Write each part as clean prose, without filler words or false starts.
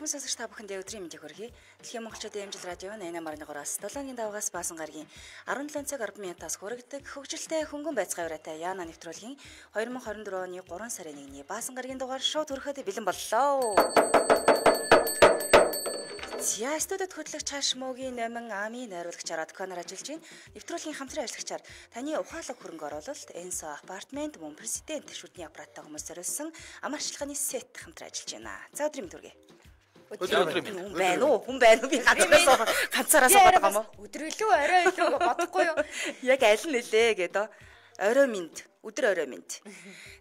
Сонсогч та бүхэнд өдрийн мэндийг хүргэе. Дэлхийн монголчуудын эмчил радио 88.3-аас 7-ны даваагаас баасан гарагийн 17 цаг 10 минутаас хүргэдэг хөгжилтэй хөнгөн байцгаа ураатай Яна нэвтрүүлгийн 2024 оны 3 сарын 1-ний баасан гарагийн дугаар шууд хүрэхэд бэлэн боллоо. За студид хөтлөгч Хашмогийн номин Ами найруулагчаар Адконоор ажиллаж байна. Нэвтрүүлгийн хамтран ажиллагчаар таны ухаалаг хөрөнгө оруулалт, Энсо апартмент, мөн президент шүдний аппараттай хүмүүс зориулсан амарчлагын сет хамтран ажиллаж байна. За өдрийн мэнд хүргэе. Хүн байна уу би ганцаараа суугаад байгаа юм уу? Өдрөлөө орой илүү бодохгүй юу? Яг аль нь нэлээ гэдэг. Орой минь, өдөр орой минь.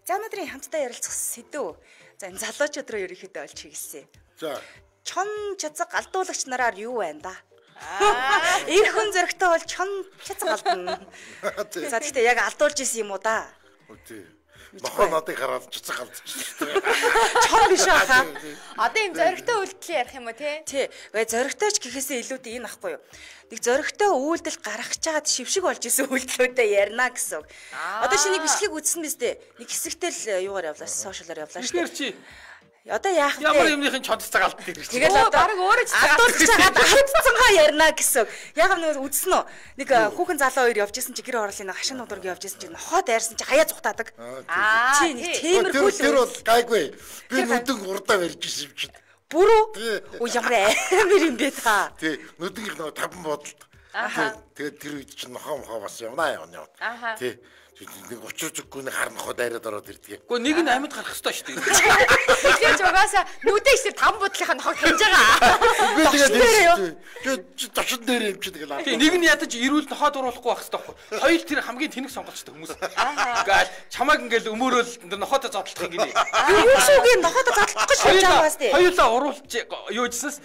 За өнөөдрийн хамтдаа ярилцах сэдв. За энэ залуучууд руу ерөнхийдөө олж хийгсэн. За. Чон чацаг алдуулагч нараар юу байна да? Эр хүн зөрөгтэй бол чон чацаг алдна. За гэхдээ яг алдуулж исэн юм уу да? Үгүй. Нохоо надыг хараад цэцэг алдчихсан. Чон биш аа. Одоо юм зөрөгтэй үйлдэл ярих юм уу те? Тий. Зөрөгтэйч гэхээсээ илүүтэй энэ ахгүй юу? Нэг зөрөгтэй үйлдэл гаргах чаад шившиг болж исэн үйлдэлүүдээ ярина гэсэн. Одоо шинийг бичлэгийг үзсэн биз дээ. Нэг хэсэгтэй л юугаар явлаа, сошиалаар явлаа шүү дээ. Одоо яах вэ? Ямар юмныхын чодцаг алддаг гэж. Тэгэл одоо өөрөө алдуулж байгаа хатцсангаа ярина гэсэн. Яг нэг үзсэн үү? Нэг хүүхэн залуу хоёр явж исэн чи гэр ороолын хашин нудраг явж исэн чи нохоо дайрсан чи хаяа зүхтаадаг. Чи нэг тиймэрхүү л. Тэр бол гайгүй. Би нүдэн урдаа барьж исэн юм чинь. Бүрүү? Уу ямар амир юм бэ та? Тий, нүдэнх нөгөө таван бодолд. Тэгээд тэр үед чинь нохоо бас явна. Тий. Нэг учирчгүй нэг хар нохоо дайраад ороод ирдэг. Гэхдээ нэг нь амьд гарах хэрэгтэй шүү дээ. Тэгэхээр угаасаа нүдэн ихсэр таван бодлынхаа нохоо хэмж байгаа. Би тэгээд ташин дээр юм чи тэгэл. Тий, нэг нь ядаж ирүүл нохоо дуруулахгүй байх хэрэгтэй байхгүй. Хоёул тэр хамгийн тэнэг сонголцтой хүмүүс. Ингээл чамааг ингээл өмөрөөл нохотой зодлох юм гинэ. Юу шүүгийн нохотой зодлох гэж шийдэж байгаа бас тий. Хоёулаа уруулж юу гэснээс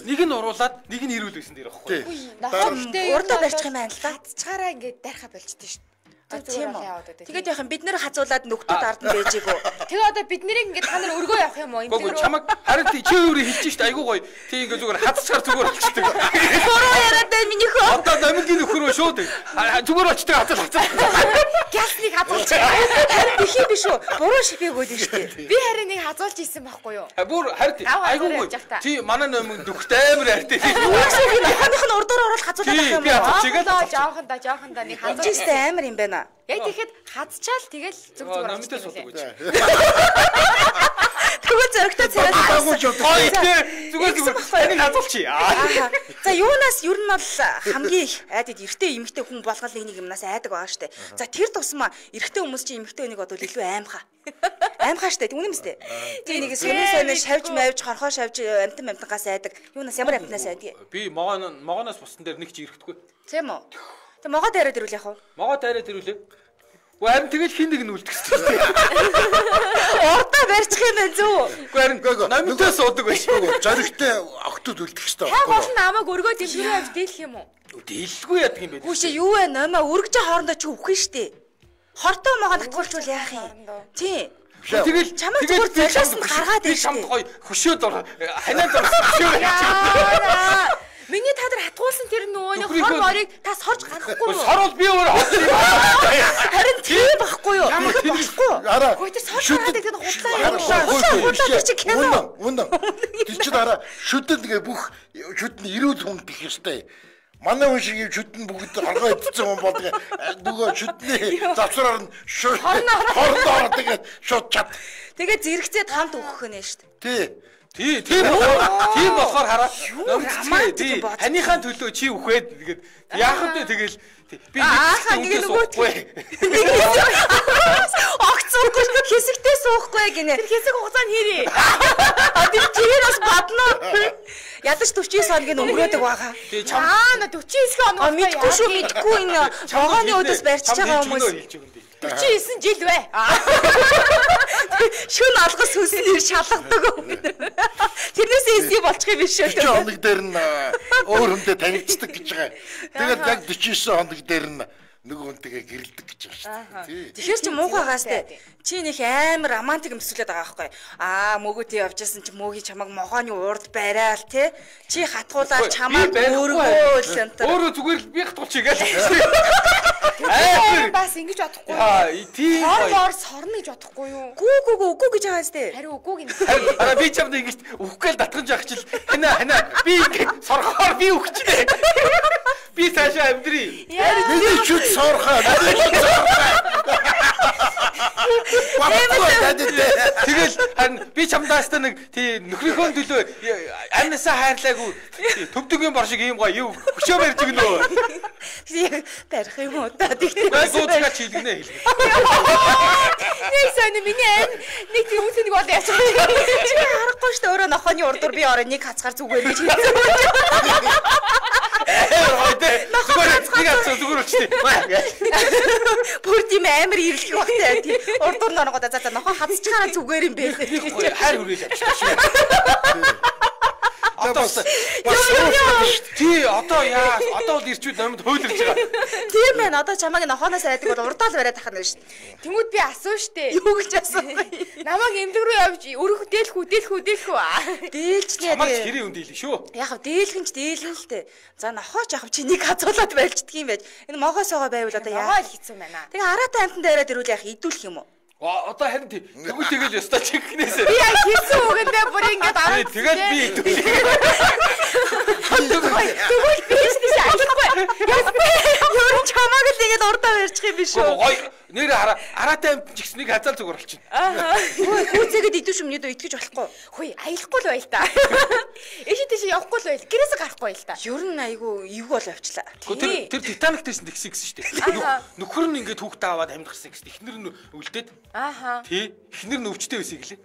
нэг нь уруулаад нэг нь ирүүл байсан дээр байхгүй. Нохоо урдаа барьчих юм байна л да. Цацгаараа ингээд дайрхаа болчихдээ шүү. Тийм үү. Тэгээд яхан бид нэр хазуулаад нөхдүүд ард нь байж гоо. Тэгээ одоо бид нэрийг ингээд та нар өргөө явах юм уу? Гоо чамаг харин чи өөрөө хэлж штэ айгуу гоё. Тий ингээд зүгээр хацчаар зүгээр болчихдаг. Бороо яриад байна минийхөө. Одоо намгийн нөхөр өө шууд. Зүгээр болчихдаг хацаа. Гясныг хазуулж. Харин бих юм биш үү? Буруу шипээгөөд нь штэ. Би харин нэг хазуулж исэн байхгүй юу? Бүр харин айгуу гоё. Тий манай номын дөхтэй амар хайртай. Юусыг нохооных нь урдуур ороод хазуулаад байх юм уу? Жоохонда нэг хазуулж. Жиштэй амар юм байна. Яг тэгэхэд хадчаал тэгэл зүг зүгээр намтай суудаг гэж. Тэгвэл зөрөгтэй царай зүгээр энийг хазуулчих. За юунаас ер нь бол хамгийн их айдад эрэгтэй эмэгтэй хүн болгол нэг юмнаас айдаг байгаа штэ. За тэр тусмаа эрэгтэй хүмүүс чи эмэгтэй хүнийг бодвол илүү аимхаа. Аимхаа штэ үнэн мэт. Тэг нэг сонин шавж мавж хорхоо шавж амтангаас айдаг. Юунаас ямар амтнаас айдаг? Би могоноос бусдан дээр нэг ч ирэхдэггүй. Тийм үү? Тэг могоо дайраад ирүүл яах вэ? Могоо дайраад ирүүлээ. Харин тэгэл хин нэг нь үлдэх хэрэгтэй. Урдаа барьчих юм байна зүү. Харин намтай суудаг байж. Зоригтой октод үлдэх хэрэгтэй. Та гол нь намайг өргөө дэлгэрээ авч дийлэх юм уу? Дийлгүй яадаг юм бэ? Хүүш юу вэ? Намаа өргөж хоорондоо чи үхэх нь штэ. Хортой могоо татгуулчвал яах юм? Тий. Тэгэл чамд зүгээр золиос нь гаргаад ирж чамд гоё хөшөөд ханаад орсон. Миний та нар хатгуулсан тэр нөгөө нэг хор морыг та сорж гаргахгүй юу? Сорвол би өөр хот. Харин тийм байхгүй юу? Болохгүй. Араа. Хөөе тэр сорж гаргадаг тэр худлаа. Чи кино. Үнэн. Тэр чинь араа шүтэн тэгээ бүх шүтэн ирүүл хүн гэх ёстой. Манай хүн шиг шүтэн бүгд хоргоо идсэн хүн болдог. Нөгөө шүтний завсраар нь хордоор тэгээд шууд чад. Тэгээд зэрэгцээд хамт өгөх нэ шүү Тийм дээ. тийм болохоор хараа. Тий. Ханийхаа төлөө чи үхээд тэгээд яах вэ тэгэл би нэг суухгүй. Огц суухгүй хэсэгтээ суухгүй гинэ. Тэр хэсэг хугацаанд хийрээ. Тэр чинь бас бадна. Ядаж 49 хоногийн өнгөрөөдөг байгаа. На 49 хоног. Мэдгүй шүү мэдгүй энэ могооны өдөөс барьчихж байгаа хүмүүс. 49 жил бай. Шүн алгас сүснээр шалгадаг. Тэрнээс эсий болчих юм биш үү? 40 хоног дээр нь өөр хүнтэй танилцдаг гэж байгаа. Тэгээд яг 49 хоног дээр нь нөгөө хүнтэйгээ гэрэлдэг гэж байна шүү дээ. Тэгэхээр чи муухайгаас те. Чи нэг амар романтик өмсүүлээд байгаа байхгүй. Мөгөөдөө явжсэн чи мөөгийн чамаг могооны урд барайл те. Чи хатгуулаад чамаг өөргөө л энэ. Өөрөө зүгээр л би хатгуулчих гээл. Бас ингэж бодохгүй. Тийм. Хоор сорно гэж бодохгүй юу? Үгүй гэж байгаа сте. Харин үгүйг нь. Би чамд ингэж үхгээл татгаж явах чил. Хана би ингэж сорхоор би үхчихлээ. Би цаашаа амьдрий. Миний шүд сорхоо. Тэгэл харин би чамдаас та нэг тий нөхрийнхөө төлөө амнасаа хайрлаагүй төвдөгийн бор шиг юм гоё юу өчөө барьж гинөө. Яг барих юм уу та тэгтээ. Гооцгаа чилгэнэ хэлээ. Нэг сайн миний ам нэг тийм үсэнийг бол яач. Чи харахгүй шүү дээ өөрөө нохооны урдуур би орой нэг хацгаар зүгээр гэж хэлсэн. Зүгээр өчтөө. Бүр тийм амар ирлэх багтай тийм урдуур норгоод за нохоо хацчихаараа зүгээр юм бэ. Хайр хүрээд авчихсан шүү. Тий одоо яа одоо л ирчүүд номд хөөлөрж байгаа. Тийм байна. Одоо чамайг нохооноос айдаг бол урдаал бариад тахна шүү. Тэнгүүд би асуу штэ. Юу гэж асуухгүй. Намайг эмнэлэг рүү явж өрөх дээлхүү. Дээлч нэ. Чамайг хэрэг юм дийлээ шүү. Яг дээлхэн ч дээлэн л дээ. За нохооч яхав чи нэг хазуулаад байлждаг юм байж. Энэ могоосоогоо байвал одоо яа. Нохоо л хийцэн байна. Тэгээ араатай амтан дээрээ дэрүүл яах идүүлэх юм уу? Одоо харин тэгвэл тэгэл ёстой чигнээсээ. Би яг хийсэн үгэндээ бүр ингэж араа. Тэгэл би идүүлээ. Тэгвэл би ч аахгүй. Юу чамааг л ингэж урдаа барьчих юм биш үү? Гоё нэр араатай амт ч гэсэн нэг хазаал зүгээр болчихно. Хүүцээгээд идүүш өмнөд итгэж болохгүй. Хөөе аялахгүй л байл та. Эши тийш явахгүй л байл. Гэрээсээ гарахгүй байл та. Ер нь айгүй эвгүй бол явчлаа. Тэр Титаник дээрсэн тэгсэн шүү дээ. Нөхөр нь ингээд хүүхдээ аваад амьд гарсан гэсэн. Эхнэр нь үлдээд. Тий. Эхнэр нь өвчтэй байсан гэлээ.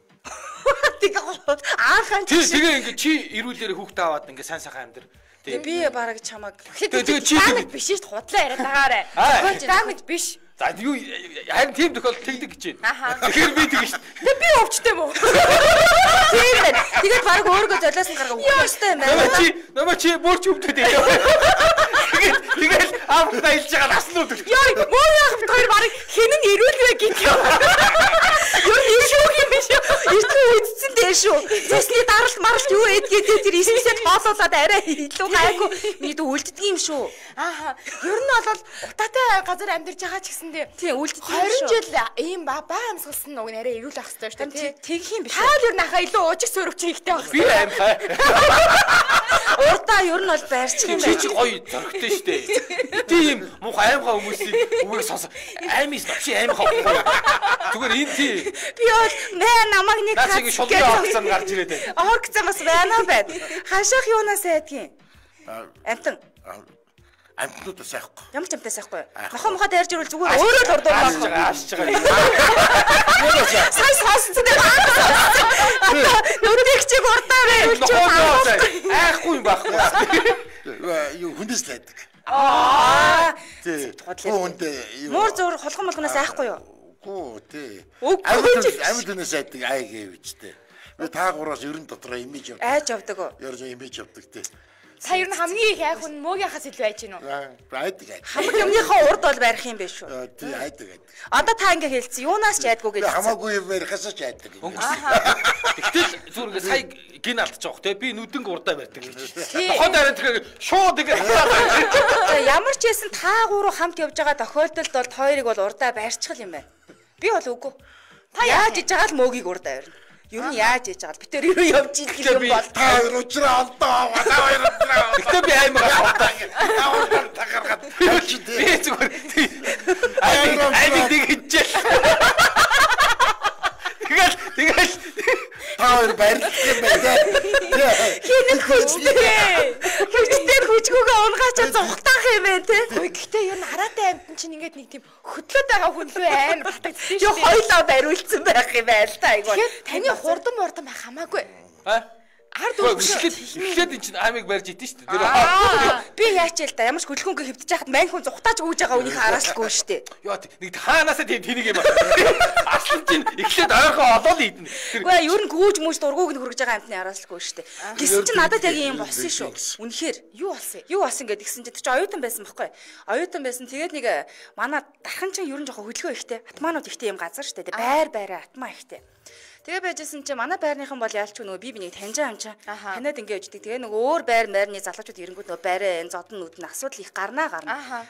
Тэгээ ингээд чи ирүүлээрээ хүүхдээ аваад ингээд сайн сайхан амьдэр. Би бараг чамаг. Тэгээ чи биш шүү дээ худлаа яриад байгаарэ. Дамж биш. За юу харин тийм тохиол тэгдэг гэж байна. Тэгэхээр би тэгэн шүү. Тэгээ би өвчтэй мө. Тийм байна. Тэгээд бараг өөргөө золиос нь гаргаа өгөх ёстой юм байна. Намаа чи бүр ч өвдөд ээ. Тэгээд аав байлж байгаа наснууд. Яа, муу яах вэ? Тэр бараг хинэн ирүүлвэ гэж юм. Юу шүү юм биш үү? Иртгүй үдцэн дээ шүү. Цэсний даралт маралт юу эдгээд тэр эсвэсэд хоолоолоод арай илүү гайгүй миний үлддэг юм шүү. Ер нь бол утаатай газар амьдарч байгаа ч гэсэндээ тийм үлддэг юм шүү. 20 жил ийм баа амсгалсан нэг арай ирүүл ах хэрэгтэй шүү дээ. Тэгэх юм биш үү? Таал ер нь ахаа илүү уужиг сөрөвч ихтэй байх. Би аим хаа. Урдаа ер нь бол барьчих юм байна. Чи гоё зөрөгтэй шүү дээ. Тийм муухай аимхаа хүмүүсийн үгийг сонсоо. Аймис чи аимхаа. Зүгээр энэ тий. Би бол намайг нэг хацгаа шулдаа авсан гарч ирээд байна. Орк замаас байна байна. Хашаах юунаас айдгийн? Амтан. Амтнууд сайхгүй. Ямар ч амтаа сайхгүй. Нохоо мохоо дайрж ирвэл зүгээр өөрөө л урдуур байгаа. Аашж байгаа. Сай сонссон дээ. Нүдийг чиг урдаа байвал ч айхгүй юм байхгүй. Юу хүндэс л байдаг. Тий. Хүндээ. Муур зур холгон молгоноос айхгүй юу? Үгүй тий. Амьд хүнээс айдаг ай гэвчтэй. Би таагуураас ерөн дотроо имиж явдаг. Айж явдаг уу? Ярж имиж явдаг тий. Та ер нь хамгийн их айх хүн мөөгийн илүү айж гинөө. Айдаг. Хамгийн өмнөхөө урд бол барих юм биш үү? Тий айдаг. Одоо та ингээ хэлсэн. Юунаас ч айдгүй гэж. Хамаагүй юм барихаас ч айдаг. Гэтэл зүгээр сая гин алдчих жоох те би нүдэн урдаа барьдаг гэж. Нохоо дараа тэгэхээр шууд ингээ. Ямар ч байсан та гурав хамт явж байгаа тохиолдолд бол хоёрыг бол урдаа барьчихл юм байна. Би бол үгүй. Та яаж иж байгаа л мөөгийг урдаа барина. Юу нь яаж ээж байгаа бид тэр юу явж идэх юм бол та хоёр уучраа олдоо та хоёр уучраа. Гэтэ би аймаг та хоёр тагаргаад би зүгээр аймаг дэгжээ. Тэгэл та хоёр баярлах юм байна. хинэн хүчтэй хүчгүйгээ унгачаа зогтаах юм байна те. Гэхдээ ер нь хараатай амтэн чинь ингээд нэг тийм хөдлөөд байгаа хүн лөө амар батагдсан шүү дээ. Юу хоёлоо бариулсан байх юм байл та айгуу. Тэгэхээр таны хурдан байх хамаагүй. Ард үгүй эхлээд энэ чинь аймаг барьж идэв шүү дээ. Би яач л да ямар ч хөдөлгөөнгөө хэвдэж яхад мань хүн зүхтааж өгж байгаа үнийг хараалгүй шүү дээ. Яа нэг хаанаасаа тэнийг юм байна. Аслан чинь эхлээд ойрхон олоод идэнэ. Үгүй ер нь гүүж мүж дургууг нь хүргэж байгаа амтны хараалгүй шүү дээ. Гэсэн чинь надад яг юм болсон шүү. Үнэхээр юу болсон гэд гисэн чинь чи оюутан байсан байхгүй. Оюутан байсан тэгээд нэг манай дархан чинь ер нь жоохон хөдөлгөөн ихтэй. Атманууд ихтэй юм газар шүү дээ. Байраа атмаа ихтэй. Тэгээ байжсэн чинь манай байрныхан бол яалч нөгөө би бинийг таньж байгаа юм чинь танад ингэ өвчдөг. Тэгээ нөгөө өөр байрны залуучууд ирэнгүүт нөгөө байраа энэ зодон нүд нь асуудал их гарна.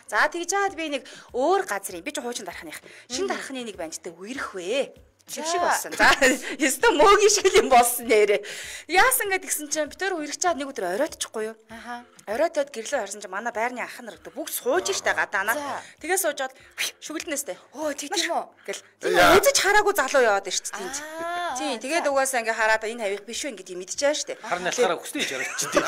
За тэгж жаад би нэг өөр газрын би ч хуучин дарахных. Шинэ дарахны нэг банжтай үерх вэ. Шиг болсон. За ёстой мөөгийн шиг юм болсон нэрэ. Яасан гэдгсэн чинь бид төр үерх чаад нэг өдөр оройтчихгүй юу? Оройтод гэрлөө харсан чинь манай байрны ах нар бүгд сууж штэ гадаанаа. Тэгээ суужаад шүгэлднэстэй. Оо тийм үү гэл. Үзэж хараагүй залуу яваад ирч тийм. Тийм тэгээд угаасаа ингээ хараад энэ хавих биш үү гэдэг мэдчихэж штэ. Харна ялхаараа хүстэй хийж орчих тийм.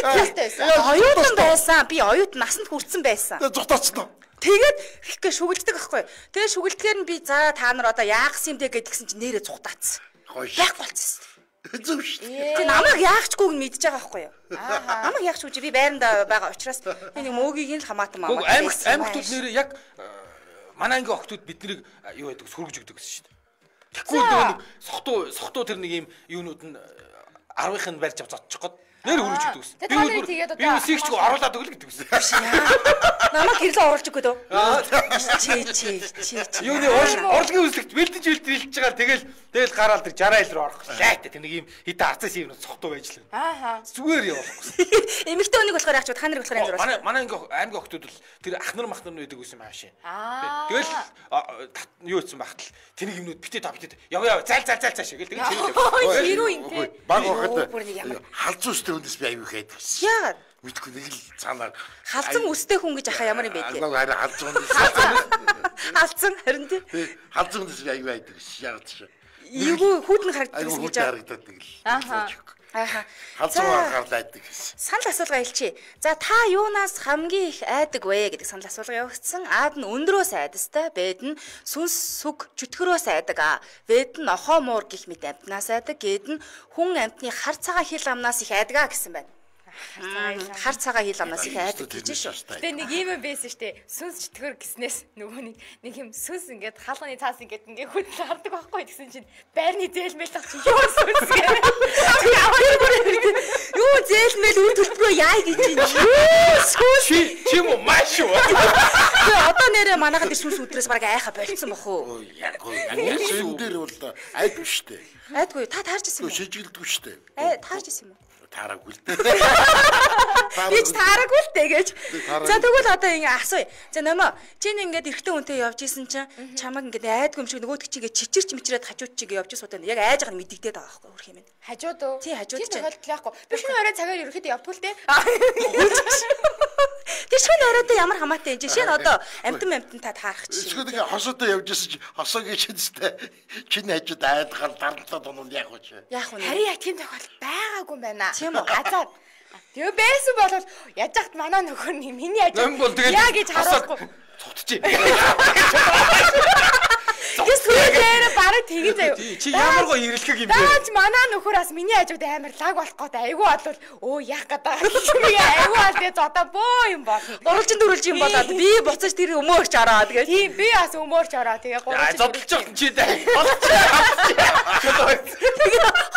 Хэд байсан? Оюутан байсан. Би оюутан насанд хүрсэн байсан. Зүхтаацсан. Тэгээд ихгээ шүгэлддэг байхгүй. Тэгээд шүгэлдэхээр нь би за та нар одоо яахс юм бэ гэдгсэн чинь нэрээ зүхтаацсан. Яг болцсон. Зөв шүү дээ. Тэг намайг яахчгүйг нь мэдж байгаа байхгүй юу? Намайг яахчгүй чи би байранда байгаа учраас би нэг мөөгийг нь л хамаатан маа. Аймагтууд нэрээ яг манай ангийн охтууд биднийг юу гэдэг сүргэж өгдөг гэсэн шүү дээ. Тэгэхгүй нэг сохтуу тэр нэг юм юунууд нь 10-ын барьж авч зодчих гээд нэр хөрөж өгдөг гэсэн. Би үсэгчгүй оруулаад өгөл гэдэг гэсэн. Намайг гэрлээ оруулж өгөх гэдэг. Чи. Юуны урлагийн үзлэгт бэлдэж хэлж байгаа тэгэл гараал тэр 60 айл руу орох. Лайт тэр нэг юм хитэ арцаас юм сохтуу байж л. Зүгээр явахгүй. Эмэгтэй хүнийг болохоор яах ч та нарыг болохоор амжруулах. Манай аймгийн охтууд бол тэр ах нар мах нар байдаг гэсэн юм аашаа. Тэгэл юу ийцэн багтал тэнийг юмнууд битээ яв зайл цааш гэл тэгэл чирээ. Хэрүү юм те. Баг багт халзуу өстэй хүнээс би аюу хэд гэсэн. Яагаад? Мэдгүй нэг л цаанаар халзан өстэй хүн гэж ахаа ямар юм бэ те. Харин халзуу халзан харин те. Халзуу хүнээс би аюу байдаг гэсэн. Яагаад ч. Эйгүү хүүтэн харагддаг гэсэн гэж харагддаг л. Халзуу харлаадаг гэсэн. Санал асуулга хэлчихье. За та юунаас хамгийн их айдаг вэ гэдэг санал асуулга явагдсан. Аад нь өндрөөс айдастай, Бэд нь сүнс сүг чөтгөрөөс айдаг. Вэд нь охоо муур гих мэт амтнаас айдаг. Гэд нь хүн амтны хар цагаан хил амнаас их айдаг гэсэн байна. Хар цагаан хил амнаас их айдаг гэж шүү. Гэтэ нэг юм байсан штэ. Сүнс чөтгөр гэснээс нөгөө нэг юм сүнс ингээд хаалганы цаас ингээд хөдөл хардаг байхгүй гэсэн чинь байрны зээлмэл тах чи юу сүнс гээ. Юу зээлмэл үр төлбөрөө яа гэж чинь. Сүнс чи юм уу маш юу. Одоо нэрээ манайхад сүнс өдрөөс бараг айха болцсон бах уу. Яг энэ дээр бол айдгүй штэ. Айдгүй та таарч ирсэн юм уу? Шижгэлдэггүй штэ. Таарч ирсэн юм уу? Таараагүй л дээ. Би ч таараагүй л дээ гэж. За тэгвэл одоо ингэ асууя. За нөмөө чи ингээд эрэгтэй хүнтэй явж исэн чинь чамаг ингээд айдгүй юм шиг нөгөөд чигээ чичирч мичрээд хажууд чигээ явж суудаа яг айж байгаа нь мэддэгдээд байгаа байхгүй өөр юм байна. Хажууд уу? Тий хажууд чинь. Тохиолдол яахгүй. Би шинэ орой цагаар ерөөхдөө явдгүй л дээ. Тэр шинэ оройтой ямар хамаатай юм чи шинэ одоо амтан та таарах чи. Эсвэл ингээ хосоотой явж исэн чи хосоогийн шинэстэй чиний хажууд айдахаар дарамтлаад онод яах вэ? Яах вэ? Харин яг тийм тохиолдол байгаагүй юм байна. Тийм үү? Азаад. Тэгээ байсан бол яаж яхад манай нөхөр миний хажууд яа гэж харуулахгүй. Цогтчих. Гэс түрээр бараг тэгэн заяа. Чи ямар гоо ирэлхэг юм бэ? Даач манай нөхөр бас миний хажууд амар лаг болох гээд айгүй болвол өө яах гэдэг. Айгүй бол тэгээ зодоо бөө юм болно. Гурвалжин дөрвөлж юм болоод би буцаж тэр өмөөрч ороо тэгээ. Тийм би бас өмөөрч ороо тэгээ гурвалжин. Зодолж байгаа чи даа.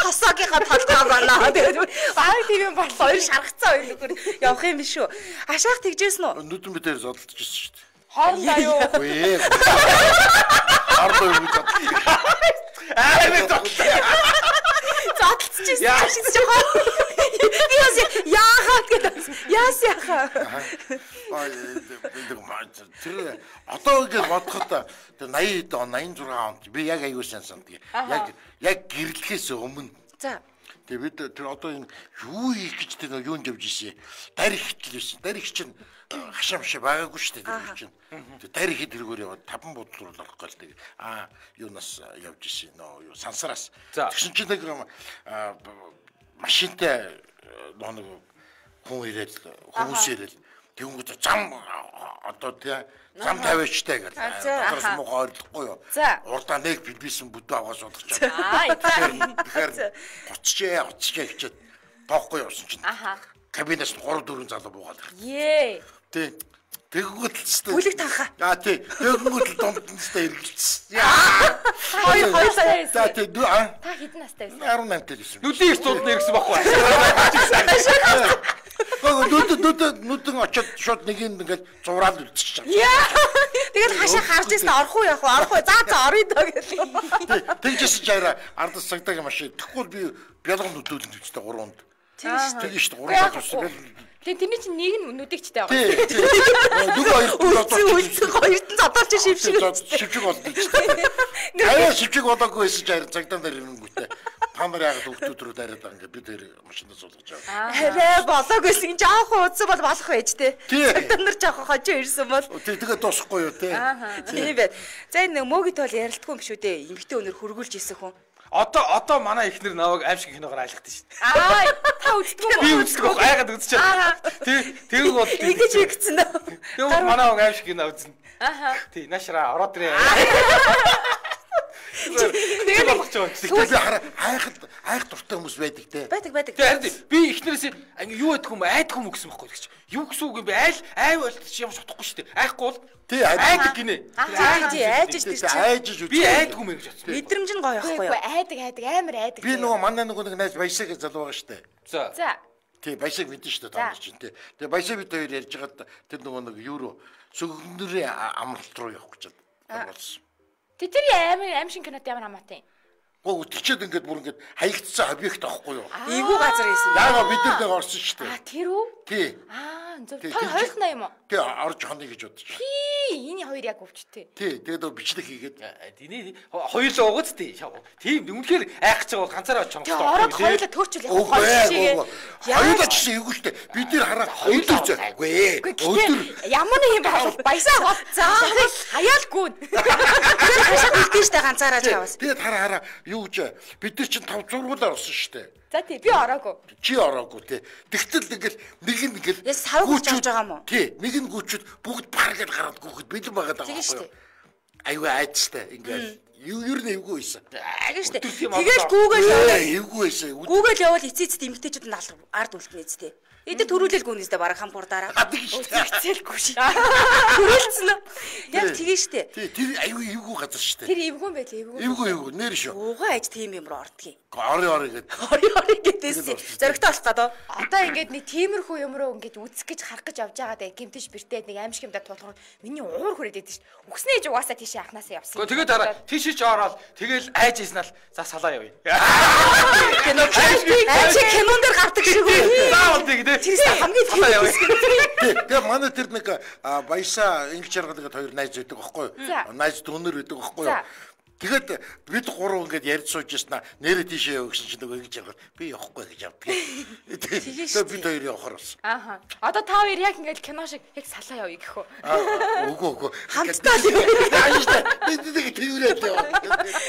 Хосоогийнхаа толгой болоо. Тэгээ бараг тийм юм болоо. Хоёр шаргацсан хоёр нөхөр явах юм биш үү? Ашаах тэгжсэн үү? Нүдэн битээр зодолж ирсэн шүү дээ. Хоорондоо юу? Үгүй ээ. Ардаа юу гэдэг. Зодолцчихсэн шиг жоо. Би бас яахаа гэдэг. Яасяхаа. Тэр одоо ингэ бодоход тэр 80 он 86 онд би яг аюу сайн санддаг. Яг гэрлэхээс өмнө. За. Тэгээ бид тэр одоо энэ юу хийх гэж тэр юунд явж ирсэн. Дарих хэлсэн. Дарих чинь хашаамш байгаагүй шүү дээ тэр чинь. Тэр дарих тэргээр яваад 5 бодол руу орох гал тэгээ. Юунаас явж ирсэн нөө юу сансараас. Тэгсэн чинь нэг машинтай нэг хүн ирээд хүмүүс ирээд тэнгууд зам одоо тэгээ зам тавиачтай гэдэг. Одоос муу ойлгохгүй юу. Урдаа нэг бибисэн бүдүү аваад суудах чинь. Тэгэхээр 30 хичээд тоохгүй явсан чинь. кабинаас 3-4 залуу буугаад ирсэн. Ээ. Тий. Тэгэнгүүт л тест. Бүлэг танхаа. Тий. Тэгэнгүүт л дундтай эргэлжсэн. Хоёр сая. За тий. Та хэдэн настай байсан? 18 дээр ирсэн. Нүлийн студд нэрсэн баггүй. Нүдэн очоод шууд нэг юм ингээд зураад үлдчихэж байгаа. Яа. Тэгэл хашаа харж ирсэн орох уу явах уу орох уу. За орё доо гэх. Тэгжсэн чаараа ардас цагтаагийн машин. Тэгвэл би бялган нүдүүлэн төчтэй 3-нд. Тэгэж шүү дээ 3-нд. Тэгээ тэрний чинь нэг нь нүдэгчтэй байгаа. Тий. Нөгөө үлцэн хоёрт нь задуулж шившиг. Шившиг болдог шүү дээ. Аяа шившиг болоогүй байсан чаар цагтаан дээр ирэнгүүтээ. Та нар яагаад хүүхдүүд рүү дараад байгаа ингээд бид тэр машинаас суулгаж байгаа. Арай болоогүйсэн жоох удсан бол болох байж тээ. Цагтаан нар жоох хожоо ирсэн бол. Тэгээ дуусахгүй юу те. Тийм байт. За энэ мөөгийн тоол ярилдгүй юм шүү дээ. Эмэгтэй өнөр хөргүүлж исэн хүн. Одоо манай эхнэр наваг аимшиг киногоор айлгдаг шүү дээ. Та үздэг үү? Би үздэг баг айгаад үзчихээ. Тэг бол Ингэж игцэн нөө. Тэг манай аимшиг кино үзнэ. Тий нашра ороод ирээ. Тэгээд би хараа айх дуртай хүмүүс байдаг те. Байдаг. Тэгээд би эхнэрээс ингээ юу ядг юм айдг юм гэсэн байхгүй гэж. Юу гэсэн үг юм бэ? Айл болчих юм шутахгүй шүү дээ. Айхгүй бол тий айдаг гинэ. Айж шүү дээ. Би айдг юм гэж бодсон. Мэдрэмж нь гоё байхгүй юу? Айдаг амар айдаг. Би нөгөө манай нөгөө нэг найз баясаг залуу байгаа шүү дээ. За. Тий баясаг мэдэн шүү дээ тань чинь тий. Тэгээ баясаг бид хоёр ярьж байгаад тэр нөгөө нэг юу сүгнэрийн амралт руу явах гэж байна. Тэр аимшиг кинод ямар хамаатай юм? Гоо өтөрчөөд ингээд бүр ингээд хаягдсан объект аахгүй юу? Эвгүй газар ийсэн. Яагаад бид нар нэг орсон шүү дээ. Тэр үү? Тий. Зөв. Та хоёрнаа юм уу? Тий орж хонё гэж бодож байна. Энэ хоёр яг өвчтэй. Тий тэгээд бичлэг хийгээд Тэний хоёулаа угац тий. Тийм үнэхээр айхаж байгаа бол ганцаараа чонгоч. Ороод хоёулаа төрчүүл яг хоёр шигээ. Хоёулаа ч гэсэн эвгүй шүү дээ. Бид нар хараа өдөр зөөгүй. Өдөр ямар нэг юм бол баясаа гол. За хаяалгүй. Тэр хашаа үлдэн штэ ганцаараа яваас. Тэгээд хараа юу гэж бид нар чинь 5 зургуулаар орсон шүү дээ. За тий би ороогүй. Чи ороогүй тий. Тэгтэл ингээл нэг нь ингээл савгч авч байгаа юм уу? Тий, нэг нь гүчүүд бүгд паргээд гараад гүхэд бэлэн байгаад байгаа байхгүй юу? Аюу айдстай ингээл юу нь эвгүй байсан. Тэгэж штэ. Тэгэл гүүгээл яваа. Эвгүй байсан. Гүүгээл явал эцээц эмгтээчүүд нь ард үлдэнэ зү тий. Эдэ төрүүлэл гүнэстэй бараг хампуурдаараа. Цэлгүй шээ. Төрүүлсэн үү? Яг тэгээ штэ. Тий, тэр аюу эвгүй газар штэ. Тэр эвгүй юм байлээ эвгүй. Эвгүй нэр шүү. Уугаа аж тийм юм руу ордгийг. Ори гэдэг. Ори гэдээсээ зөрөгтэй болох гэдэг. Одоо ингээд нэг тиймэрхүү юм руу ингээд үзэх гэж харах гэж явж байгаа даа гимтэж бэртээд нэг аимшиг юмдаа тулахаар миний уур хүрээд идэв шүү. Үгснээ ээж угаасаа тийшээ анханасаа явсан. Тэгээд хараа тийшээ ч ороод тэгэл айж ийснаа л за салаа явъя. Кино аимшиг кинон дээр гардаг шиг үү? Заавал тийм дээ. Тэрс хамгийн салаа явъя. Тэгээ манай тэр нэг баясаа инглиш жаргалгаад хоёр найз байдаг байхгүй юу? Найз дөнөр байдаг байхгүй юу? Тэгэхэд бид гурав ингээд ярьж сууж яснаа нэрээ тийшээ яваа гэсэн чинь нөгөө ингэж яваад би явахгүй гэж явдаг. Тэгээд бид хоёр явахаар болсон. Ааха. Одоо та хоёр яг ингээд кино шиг яг салаа явъя гэх үү? Үгүй. Хамтдаа л юм. Бид нэг тэрүүрээд яваа.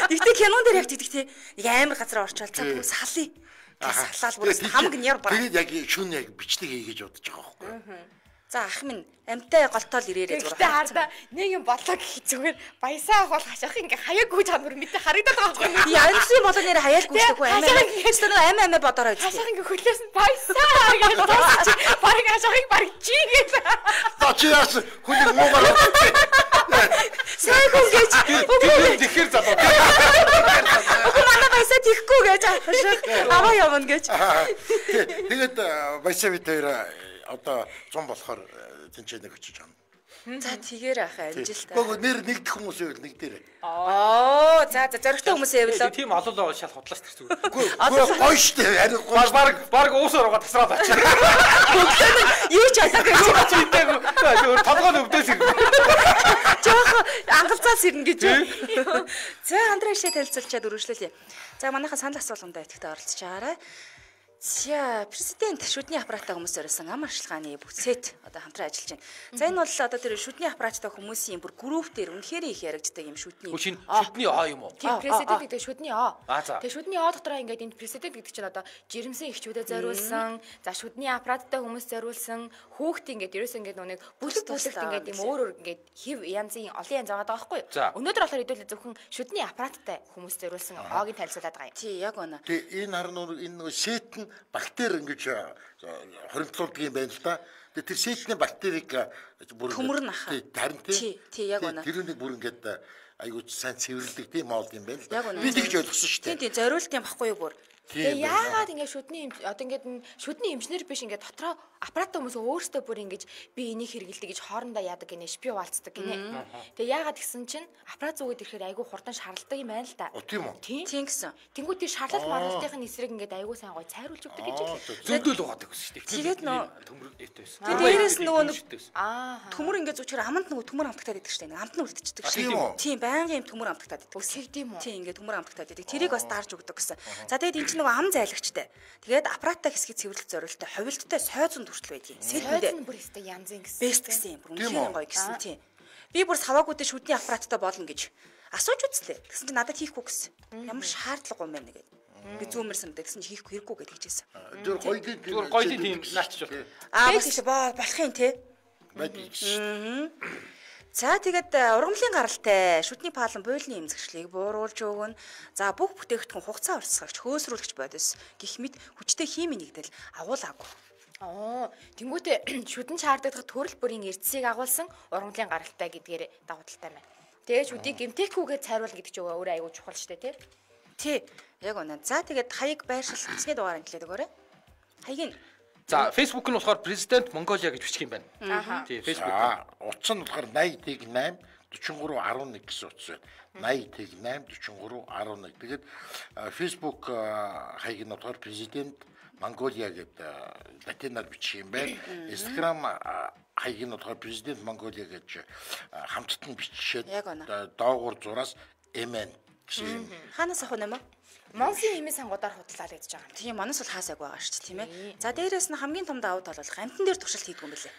Тэгтээ кинон дээр яг тэгдэг те. Нэг амар газар орчвол цаа бүгд салъя. Салаал бүр хамаг нь яр бараа. Тэгээд яг шүн яг бичлэг хийгээж бодож байгаа байхгүй юу? За ах минь амтай голтоол ирээрээ зураг. Хараа нэг юм болоо гэх зүгээр баясаа ах бол хашаах ингээ хаяаггүй чанар мэдээ харагдаад байгаа байхгүй. Би янзын болоо нэр хаяалгүй штэггүй амаа. Эсвэл амаа бодороо үзтээ. Хашаах ингээ хөлөөс нь баясаа гэж тооч. Бараг хашаахыг бараг чи гэж. Тачаас хүнийг муугаар. Сайхан гэж. Тэгэхээр залуу. Манай баясаа тийхгүй гэж аваа явна гэж. Тэгээд баясаа бид хоёр одоо 100 болохоор тэнцэнэ өгч чам. За тэгэр ах амжилттай. Гоо нэр нэгдэх хүмүүс байвал нэг дээр. За зөрөгтэй хүмүүс байвал. Тийм олон л шал худлаач тэр зүгээр. Үгүй гоё штэ. Ари гоё. Баг уусаар угаа тасраад очив. Юу ч асаагүй. Зүгээр толгойн өвдөөс ирнэ. Жохо ангалцаас ирнэ гэж. За Андреашээ танилцуулчаад үргэлжлүүлье. За манайхаа санал асуулганд идэвхтэй оролцож байгаарай. За президент шүдний аппараттай хүмүүс зориулсан ам арчилгааны бүсэд одоо хамтран ажиллаж байна. За энэ бол одоо тэр шүдний аппараттай хүмүүсийн бүр групп дээр үнэхээр их яригддаг юм шүдний. Шүдний А юм уу? Тийм президент гэдэг шүдний А. За. Тэгээ шүдний А дотроо ингээд энэ президент гэдэг чинь одоо жирэмсэн эхчүүдэд зориулсан, за шүдний аппараттай хүмүүс зориулсан, хүүхд ингээд ерөөсөө ингээд нэг бүлэг ингээд юм өөр ингээд хев янзын олон янз байгаа байхгүй юу? Өнөөдөр болохоор хэдүүлээ зөвхөн шүдний аппараттай хүмүүс зориулсан Агийн танилцуулаад байгаа юм. Тий, яг үнэ. Тэгээ энэ харнуур энэ нөгөө сет нь бактери ингэж хоригдлуулдаг юм байна л да. Тэгээ тэр сэтний бактерийг бүр төмөр нах. Харин тий яг үнэ. Тэр нэг бүр ингэж айгуу сайн цэвэрлдэг тийм моол юм байна л Яг да. үнэ. Би тэгж ойлгосон шүү дээ. Тий зориулт юм баггүй юу бүр. Тэгээ яагаад ингэ шүдний одоо ингээд шүдний эмчнэр биш ингээд дотроо аппарат хүмүүс өөрсдөө бүр ингэж би энийг хэрэгэлдэг гэж хоорондоо яадаг гинэ шпи хуваалцдаг гинэ. Тэгээ яагаад гэсэн чинь аппарат зүгээд ирэхээр айгүй хурдан шаралдаг юм байна л да. Тийм үү? Тийм гэсэн. Тэнгүүд тий шарлал маргалтын эсрэг ингээд айгүй сайн гоё цайруулж өгдөг гэж хэлээ. зөндөл угаадаг гэсэн шүү дээ. Тэгээд нөө төмөр дэвтэйсэн. тэгээд дээрээс нөгөө Аа. төмөр ингээд зүгчээр аманд нөгөө төмөр амтагтаад идэг штэ. Амт нь үлдчихдэг штэ. Тийм үү? Тийм байнгын юм төмөр амтагтаад идэг. Үсгийм үү? Тийм ингээд төмөр амтагтаад идэг. Тэрийг бас дарж өгдөг гэсэн. За тэгээд энэ чинь нөгөө ам зайлагчтай. Тэгээд аппараттай хэсгийг цэвэрлэх зорилттой ховилттой сойзон хүртэл байдгийг. Сэтгүүл бүр өстэй янзын гэсэн. Бест гэсэн юм. Бүр үнэхээр гоё гэсэн тийм. Би бүр саваагуудын шүдний аппараттай болно гэж асууж үзлээ. Тэгсэн чинь надад хийхгүй гэсэн. Ямар шаардлага юм бэ нэгээд. Би зүүмэрсэн гэдэг гэсэн чи хийхгүй хэрэггүй гэж хэлжсэн. Тэр гоёдын Зүгээр гоёдын тийм наачч бол. Бас болох юм те. За тэгээд ургамлын гаралтай шүдний палан буйлны эмзэгчлийг бууруулж өгнө. За бүх бүтээгдэхүүн хугацаа урсгагч хөөсрүүлэгч бодис гэх мэт хүчтэй химийн нэгдэл агуулаагүй. Тэнгүүтээ шүдэн чаардагдах төрөл бүрийн эрдэсийг агуулсан ургамлын гаралтай гэдгээр давуу талтай байна. Тэгээ шүдийг гэмтээхгүйгээр цайруулна гэдэг чинь өөрөө аягүй чухал шүү дээ Тий. Яг үнэ. За тэгээд хаяг байршил бичний дугаар хэлээд өгөөрэй. Хаягийн За Facebook нь болохоор президент Монголиа гэж бичих юм байна. Тий, Facebook. Утас нь болохоор 80-8 4311 гэсэн утас байна. 80-8 4311. Тэгээд Facebook хаяг нь болохоор президент Монголиа гэдэг латинаар бичих юм байна. Instagram хаяг нь болохоор президент Монголиа гэж хамтд нь бичиж доогуур зураас MN гэсэн. хаанаас авах юм бэ? Монсын хэмээ сангуудаар худлаа л гэж байгаа юм. Тийм манаас бол хаасайг байгаа шүү дээ тийм ээ. За дээрээс нь хамгийн том давуу тал болох амтан дээр туршилт хийдэг юм билээ.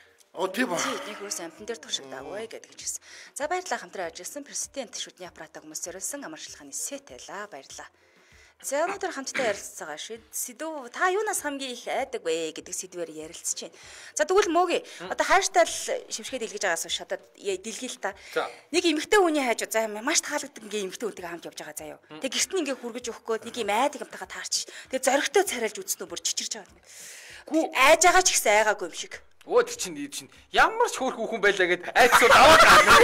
Тийм ба. Нэг хөөс амтан дээр туршилтаагүй гэдэг хэлсэн. За баярлалаа хамтран ажилласан президент шүдний аппаратаа хүмүүс зориулсан амарчилгааны сет байлаа. Баярлалаа. За өнөөдөр хамтдаа ярилцсан байгаа сэдв та юунаас хамгийн их айдаг вэ гэдэг сэдвээр ярилцж байна. За тэгвэл мөөгийн одоо хайртай шившгээд илгэж байгаас шатад дэлгий л та. Нэг эмэгтэй хүний хайж за маш таалагддаг ингээ эмэгтэй хүнтэйгээ хамт явж байгаа заяа. Тэг гэрт нь ингээ хүргэж өгөх гээд нэг юм айдаг юмтайгаа таарч. Тэг зоригтой царайлж үзнэ бүр чичирж байгаа. Гүү айж байгаа ч ихсэн айгаагүй юм шиг. Өө тэр чинь ямар ч хөөрхөн хүн байлаа гэд айцсуу даваад гарна.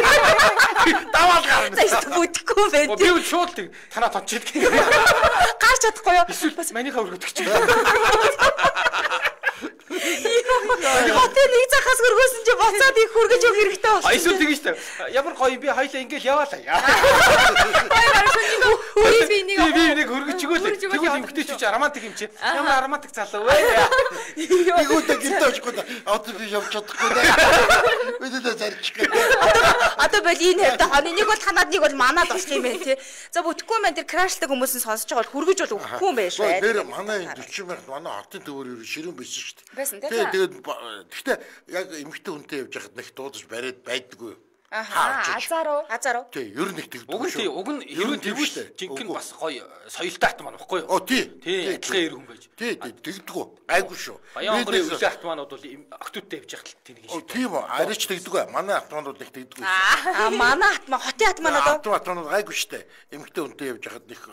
Даваад гарна. За бүтэхгүй байх. Би үл шууд тэг танаа тончид. Гарч чадахгүй юу? Эсвэл бас манийхаа өргөдөг чи. Хотын нэг захаас хөргөөсөн чи буцаад их хөргөж өг хэрэгтэй болсон. Эсвэл тэгэж та. Ямар гоё би хоёлаа ингээл яваалаа. Би нэг хөргөж өгөөл. Тэгвэл эмгтэй ч романтик юм чи. Ямар романтик залуу вэ? Игүүтэй гинтэ очихгүй. Одоо би явж чадахгүй. Бидээ зарчих гээ. Одоо бол энэ хэвдэ хоны нэг бол танаад нэг бол манаад болох юм байна тий. За бүтэхгүй маань тэр крашлдаг хүмүүс нь сонсож байгаа бол хөргөж бол өгөхгүй юм байна шүү. Тэр манай 40 мянга манай хотын төвөр ширүүн байсан шүү дээ. Байсан тий. Тэгээд гэхдээ яг эмэгтэй хүнтэй явж байхад нэг дуудаж бариад байдаггүй. Азаруу. Тий, ер нь их тэгдэг. Уг нь уг нь ерөн тэгвштэй. Жинхэнэ бас гоё соёлтой атман баггүй юу? Тий. Тий, адилхан эр хүн байж. Тий, тэгдэггүй. Гайгүй шүү. Баян хонгорын үлээ автоманууд бол октодтой явж байхад тийг шүү. Тийм үү. Арич тэгдэггүй. Манай автоманууд их тэгдэггүй. Манай хотын автоманууд автоманууд гайгүй штэ. Эмэгтэй хүнтэй явж байхад нэг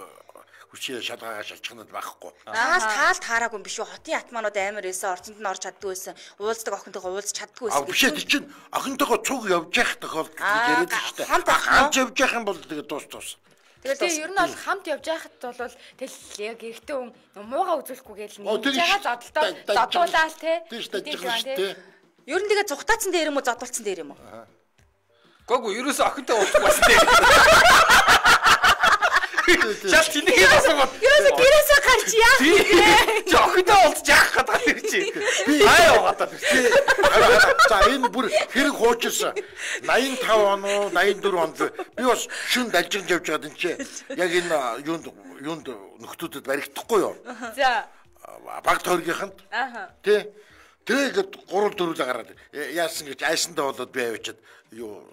хүчээ шалгаагаа шалчихнад байхгүй. Таалт хаараагүй юм биш үү? Хотын атманууд амар эсэ орцонд нь орж чаддгүй байсан. Уулздаг охинтойгоо уулз чаддгүй байсан. Биш тий чинь охинтойгоо цуг явж явах тохиолдол яриад штэ. Хамт явж явах юм бол тэгээ дуус. Тэгээ ер нь бол хамт явж байхад бол тэл яг эрэгтэй хүн муугаа үзүүлэхгүй гээл нэгж байгаа зодолтоо те. Ер нь тэгээ зүхтаацсан дээр юм уу зодолцсон дээр юм уу? Гүг ерөөсө охинтой уулзах бас дээ. Шал чиний асуугаад. Ерөөсө гэрээсээ гарч яах вэ? Охинтой уулзах яах гэдэг чи. Аа яваад тий. За энэ бүр хэрэг хуучирсан. 85 он уу 84 онд би бас шүн далжигж явж байгаад энэ чи яг энэ юунд нөхдүүдэд баригдахгүй юу? За. Баг тойргийнханд. Тий. Тэгээд 3-4 гараад яасан гэж айсандаа болоод би авчиад юу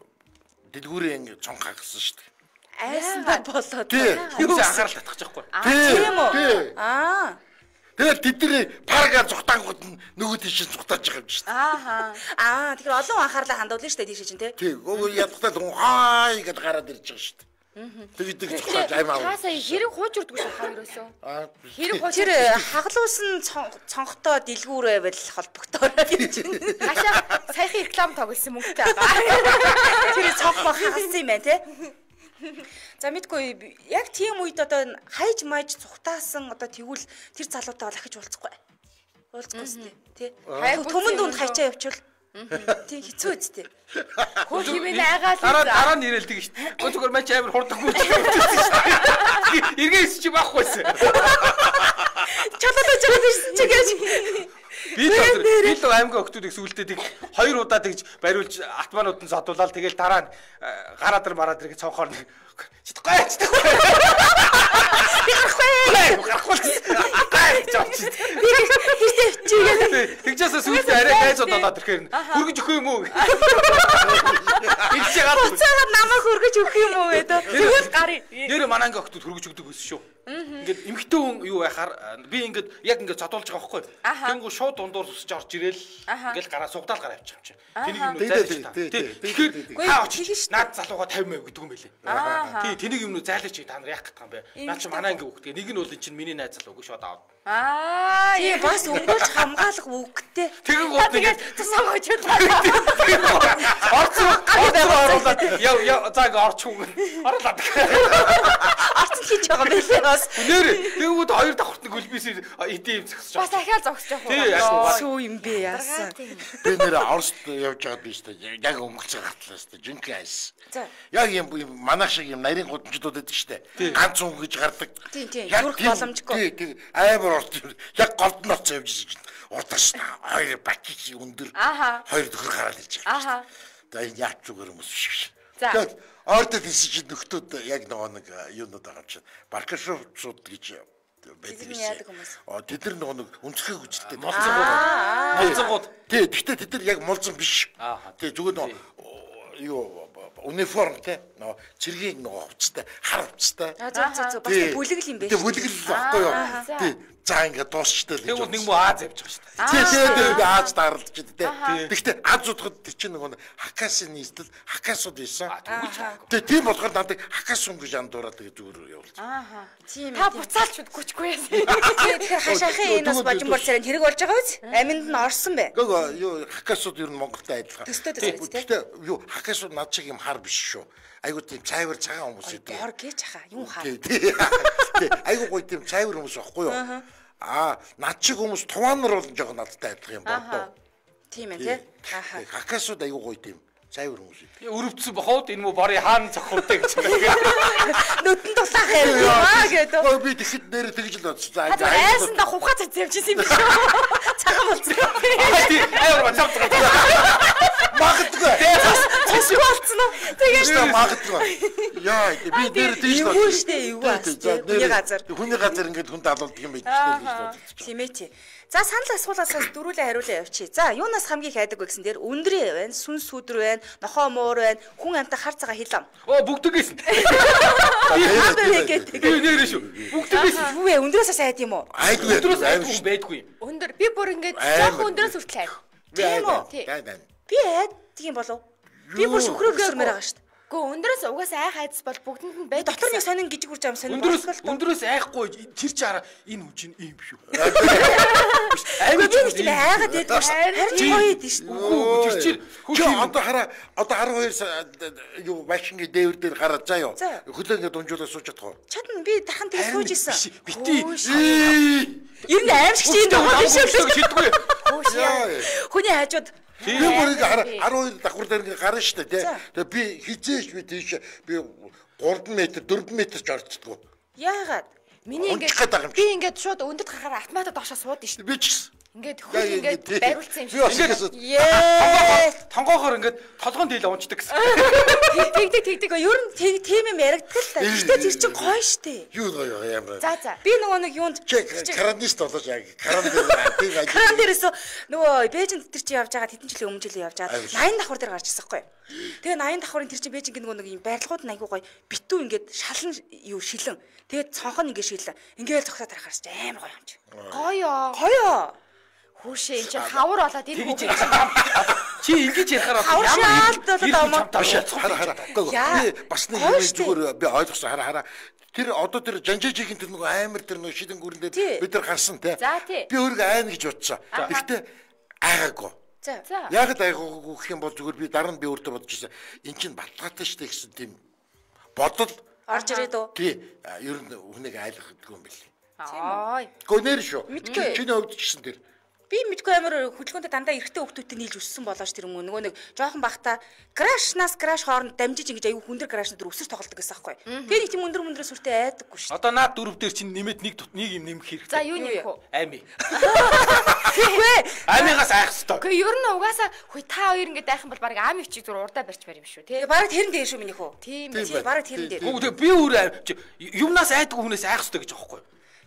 дэлгүүрийн цонх хагсан шүү дээ. Айсандаа болоод юу анхаарал татчих жоохгүй. Тийм үү? Тэгээд тэдний парага зүхтангууд нөгөө тийш зүхтааж байгаа юм шүү дээ. Тэгэхээр олон анхаарлаа хандуулна шүү дээ тийш чинь тий. Тий. Ядтал хай гэдээ гараад ирж байгаа шүү дээ. Тэгээд цохож аймаа. Таасаа хэрэг хууж үрдгүй шүү хаа ерөөсөө. Хэрэг хууж Тэр хагалуулсан цонхтой дэлгүүр байвал холбогдоорой гэж байна. Хашаа саяхан реклам тоглосон мөнгөтэй байгаа. Тэр цонх хагалсан юм байна те. За мэдгүй яг тийм үед одоо хайж майж цухтаасан одоо тэгвэл тэр залуутай бол ахиж уулзахгүй. Уулзахгүй сте тий. Төмөн дүнд хайчаа явуул. Тий хэцүү үсттэй. Хөө хивэн айгаал. Дараа нь ирэлдэг шүү дээ. Өө зүгээр мач амар хурдаггүй ч. Эргээс чи баахгүйсэн. Чалaalж байгаа биш чи гэж. Би л аймгийн охтууд их сүултээ тэг 2 удаа тэгж бариулж атманууд нь зодуулаад тэгэл дараа нь гараад ир мараад ирэх цонхоор читгүй. Тэгжээс сүултээ арай хайзууд болоод ирэхээр хөргөж өгөх юм уу? Илж яагаад буцаагаад намайг хөргөж өгөх юм уу гэдэг. Тэгвэл гарын. Нэр манангийн охтууд хөргөж өгдөг байсан шүү. Ингээд эмхтэн хүн юу байхаар би ингээд яг ингээд зодуулж байгаа байхгүй. Тэнгүү шууд дундуур сүсэж орж ирээл ингээд гараа сугдаал гараа явчих юм чи. Тэнийг юм зайлж та. Тэгэхээр хаа очиж наад залууга 50 маяг гэдэг юм байлээ. Тий тэнийг юм зайлж чи та нар яах гэдэг юм бэ? Наа чи манай анги хүүхдээ нэг нь бол эн чинь миний найз залуу үгүй шууд аваад. Тий бас өнгөрч хамгаалах үгтэй. Тэгэн гол тэгээд тусам очиж орцоо оруулаад яа зааг орч үг. Оруулаад. Орцсон хийж байгаа байлээ бас. Нэр тэгвэл хоёр давхартны гөлбисээр идэм зогсож бас ахиал зогсож явах. Сүү юм бэ яасан. Би нэр Оросд явж байгаад би шүү дээ. Яг өнгөцөө гатлаа шүү дээ. Жинхэнэ айс. Яг юм манайх шиг юм нарийн гудамжууд байдаг шүү дээ. Ганц хүн гэж гардаг. Тийм. Зүрх боломжгүй. Тийм. Амар орд. Яг голд нь орцоо явж ирж байна. Урдаш хоёр бакич өндөр. Хоёр төхөр гараад ирж байгаа. Тэгээд яач зүгээр хүмүүс шиг. Тэгээд ордод хэлсэж нөхдүүд яг нэг юунууд байгаа чинь баркашууд гэж байдаг юм. Тэд нар нэг өнцгөө хүчтэй. Молцонгууд. Тий, гэхдээ тэд нар яг молцон биш. Тий, зүгээр юу униформ те цэргийн хувцастай хар хувцастай. Зөв бас бүлэгл юм байна. Тий, бүлэгл байхгүй юу? Тий. За ингээд дуусчтай л. Тэгвэл нэг муу Аз явж байгаа Тий, шүү дээ. тий, Аз даралж дээ. Гэхдээ Аз удахад тэр чинь нэг хакасын нийслэл хакасууд ийсэн. Тэгээ тийм болохоор надад хакасун гэж андуураад тэгээ зүгээр явуулчих. Тийм. Та буцаалч үгүйчгүй яасан. Тэгэхээр хашаахын энэ бас божимбор царайнд хэрэг болж байгаа үз? Аминд нь орсон бэ? Гөө юу хакасууд ер нь Монголтай адилхан. Төстэй дээ. Гэхдээ юу хакасууд над шиг юм хар биш шүү. Айгуу тийм цайвар цагаан хүмүүс үү. Гор гэж хаа юм хаа. Тий. Айгуу гоё тийм цайвар хүмүүс байхгүй юу? Над шиг хүмүүс туваанар бол жоохон надтай адилхан юм байна. Тийм ээ тий. Хакасууд айгуу гоё тийм цайвар хүмүүс үү. Өрөвдсөн бохоод энэ мө барыг хаан цохолтой гэж байна. Нүдэн тулаах юм гэдэг. Гоо би тэгэхэд нэр тэгж л бодсон. Айсанда хувхаа цавчихсан юм биш үү? Цагаан болсон. Тий, аяар цавцгаа. Магадгүй. Цэсгүй болсон уу? Тэгээд магадгүй. Яа, би нэр тэгж л юу штэ юу бас хүний газар. Хүний газар ингээд хүнд алуулдаг юм байж тээ. Тийм ээ тий. За санал асуулаасаас дөрүүлээ хариулаа явчих. За юунаас хамгийн хайдаг вэ гэсэн дээр өндрөө байна, сүн сүдэр байна, нохоо муур байна, хүн амтай хар цагаан хилам. Бүгдэг гэсэн. Тэгээд нэрээ шүү. Бүгдэг гэсэн. юу вэ? Өндрөөс сайд юм уу? Айдгүй Өндрөөс айдгүй байдгүй. Өндөр би бүр ингээд жоох өндрөөс хүртэл хайр. Тийм үү? Би айдаг юм болов. Би бүр шөхрөөр өсөрмөр байгаа шүү дээ. Гэхдээ өндрөөс угаасаа айх айдас бол бүгдэнд нь байдаг. Дотор нэг сонин гжиг үрж ам сонин. Өндрөөс айхгүй тэр чи хараа энэ үжин ийм шүү. Айгүй би нэг тийм айгаад байдаг шүү. Харин гоё идэв шүү. Үгүй тэр чи одоо хараа одоо 12 юу машингийн дээвэр дээр гараад заа юу. Хөлөө ингээд унжуулаад сууж чадах уу? Чадна би дахан тэгээ сууж исэн. Бити. Ер нь аимшигч юм даа биш үү? Шийдгүй. Хүний хажууд би бүрийг хараа 12 давхар дээр ингээд гарна шүү дээ. Тэгээ би хизээш би тийш би 3 м 4 м ч орцдгоо. Яагаад? Миний ингээд би ингээд шууд өндөд гарахаар автоматад доошоо суудсан шүү дээ. Би ч гэсэн. Ингээд хөл ингээд бариулсан юм шиг. Тонгоохоор ингээд толгоон дийл унцдаг гэсэн. Тэгдэг. Ер нь тийм юм яригддаг л та. Гэтэ тэр чинь гоё штэ. Юу гоё юм бэ? За. Би нөгөө нэг юунд карантист болооч яг каран дээрээс нөгөө Бээжинд тэр чинь явж байгаа хэдэн жилийн өмнө жилийн явж байгаа 80 давхар дээр гарч ирсэн хгүй. Тэгээ 80 давхарын тэр чинь Бээжинг нөгөө нэг юм байрлагууд нь айгүй гоё битүү ингээд шалан юу шилэн. Тэгээд цонх нь ингээд шилэн. Ингээд зогсоод тарахаарч амар гоё юм чи. Гоё. Гоё. Хүүшээ энэ чинь хавар болоод энэ чи би ингэж ярихаар хараа. Би бас нэг юм зүгээр би ойлгосон хараа. Тэр одоо тэр жанжижигийн тэр нөгөө амар тэр нөгөө шидэн гүрэн дээр бид нар гарсан те. Би өөрийгөө айна гэж бодсон. Гэхдээ айгаагүй. Яг айгаагүй гэх юм бол зүгээр би дараа нь би өөртөө бодож ирсэн. Эн чинь баталгаатай штэ гэсэн тийм бодол орж ирээд үү? Тий. Ер нь хүнийг айлгахгүй юм бэл. Гонэр шүү. Чиний хувьд ч гэсэн тэр. Би мэдгүй амар хөдөлгөөнтэй дандаа эрэгтэй хүүхдүүдтэй нийлж өссөн болооч тэр нөгөө нэг жоохон бахта крашнаас краш хооронд дамжиж ингэж аюу хүндэр крашнууд өсөж тоглодог гэсэн байхгүй. Тэгээ нэг тийм өндөр сүртэй айдаггүй шүү. Одоо наад дөрөв дээр чинь нэмээд нэг юм нэмэх хэрэгтэй. За юу нэмэх вэ? Ами. Үгүй. Амигаас айх хэвээр. Гэхдээ ер нь угаасаа хүй та хоёр ингэж айх юм бол баг ами чиг зур урдаа барьж барь юм шүү тий. Бараг тэрэн дээр шүү минийх үү? Тийм бараг тэрэн дээр. Би өөр юмнаас айдгүй хүнээс айх хэвээр гэж аахгүй.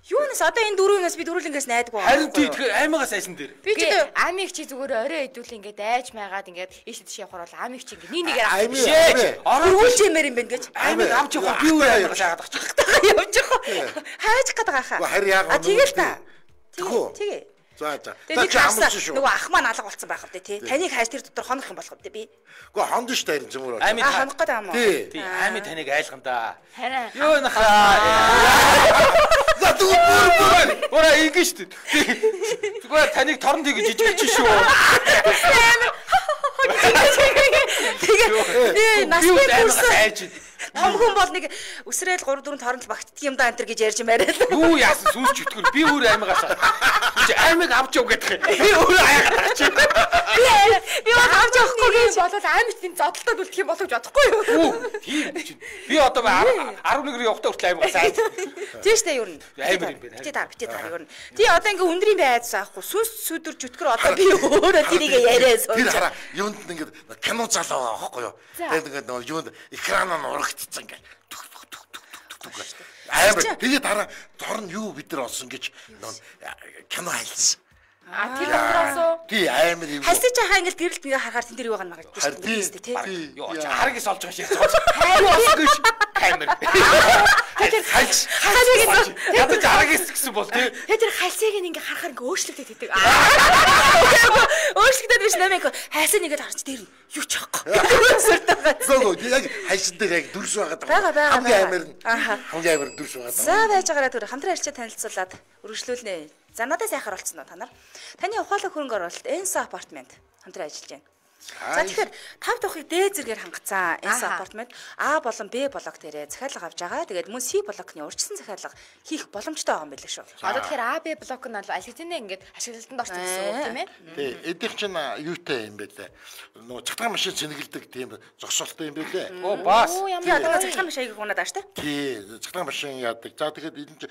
Юунаас одоо энэ дөрөвнөөс би дөрүүлэнгээс найдаггүй. Харин тий тэгэхээр амигаас айсан дээр. Би ч амиг чи зүгээр орой идүүл ингээд айж майгаад ингээд ийш тийш явахаар бол амиг чи ингээд нэгээр авчих. Оруулж юмэр юм байна гэж. Амиг авч явах би өөр амигаас айгаад ачиж. Явж явах. Хайж гээд байгаа хаа. Харин яг тэгэл та. Тэгээ. За. Тэгээд нөгөө ах маань алга болсон байх вэ тий. Таныг хайж тэр дотор хонох юм болох вэ би? Гэхдээ хонд шүү дээ зөмөр. Ами хонох гэдэг юм уу? Тий. Ами таныг айлгана да. Харин. Юу нахаа. За зүгээр. Ора ингэж шүү дээ. Зүгээр таныг торн тэгж жижигч шүү. Тэгээ насны айж. Том хүн бол нэг өсрөөл 3 4 торонт багтдаг юм да энэ гэж ярьж мээрээ. Юу яасан сүнс чөтгөр би өөр амигаас. Чи амиг авч яв гэдэг. Би өөр аяагаад чи. Би бол авч явахгүй гэж болоод амиг тийм зодтолтод үлдэх юм болов гэж бодохгүй юу? Тийм чинь. Би одоо 11-р явахтаа хүртэл амигаас айж. Тийш дээ юу н. Амир юм байна. Битээ таар юу н. Тий одоо ингээ өндрийн бай айдсан аахгүй. Сүнс сүдэр чөтгөр одоо би өөрөө тэрийг яриас. Тэр хараа юунд ингээ кино залуу байгаа байхгүй юу? Тэгээд ингээ нөгөө юунд экранаа нурагдцсан ингээ. Амар тэгээд дараа дор нь юу бид нар олсон гэж кино хайлсан. Тэр доороосоо тий амар юм. Хасаж хаа ингээл гэрэлт бигээ харахаар тэн дээр юу гана магадгүй шүү дээ тий. Юу ч харгас олж байгаа шиг цооц. Амар. Тэр хайлж. Ядаж харгас гэсэн бол тий. Тэр хальсыг ингээ харахаар ингээ өөрчлөгдөж идэг. Өөрчлөгдөж биш нэмээг хайсан нэгэд харч дээр нь юу ч яахгүй. Гөө яг хайсан дээр яг дүрс байгаа. Хамгийн амар нь. Хамгийн амар дүрс байгаа. За байж байгаараа түр хамтран арчаа танилцуулаад үргэлжлүүлнэ. За надад сайхан оролцсон уу та нар? Таны ухаалаг хөрөнгө оруулалт Enso апартмент хамтран ажиллаж байна. За тэгэхээр тав давхыг дээд зэргээр хангацсан Enso апартмент А болон Б блок дээрээ захиалга авч байгаа. Тэгээд мөн С блокны урьдчилсан захиалга хийх боломжтой байгаа юм билээ шүү. Одоо тэгэхээр А Б блок нь бол алигдэнэ ингээд ашиглалтанд орсон гэсэн үг тийм ээ? Тий, эдгээр чинь юутай юм бэ лээ. Нөгөө цагдаа машин цэнгэлдэг тийм зогсоолтой юм бэ лээ. Оо бас. Тий, одоо цагдаа машиныг унаад ааш та. Тий, цагдаа машин яадаг. За тэгэхээр энэ чинь